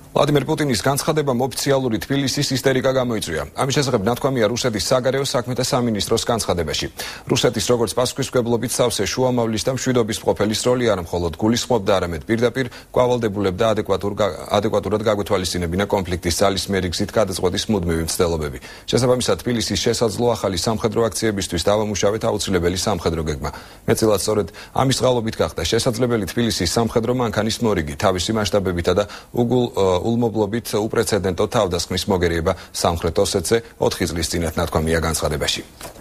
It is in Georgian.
ვლადიმერ პუტინის განცხადებამ ოფიციალური თბილისის ისტერიკა გამოიწვია. ამის შესახებ ნათქვამია რუსეთის საგარეო საქმეთა სამინისტროს განცხადებაში. რუსეთის როგორც პასუხისმგებლობით სავსე შუამავლის და მშვიდობის მყოფელის როლი არა მხოლოდ გულისხმობდა, არამედ პირდაპირ კვალდებულებდა ადეკვატურად გაგვეთვალისწინებინა კონფლიქტის ძალისმიერი გზით გადაწყვეტის მუდმივი მცდელობები. შესაბამისად, თბილისის შესაძლო ახალი სამხედრო აქციებისთვის დავამუშავეთ აუცილებელი სამხედრო გეგმა. მეტწილად სწორედ ამის წყალობით გახდა შესაძლებელი თბილისის სამხედრო მანქანის მორიგი, თავისი მასშტაბებითა და ულმობლობით უპრეცედენტო თავდასხმის მოგერიება სამხრეთ ოსეთზე 4 წლის წინათ ნათქვამია განცხადებაში.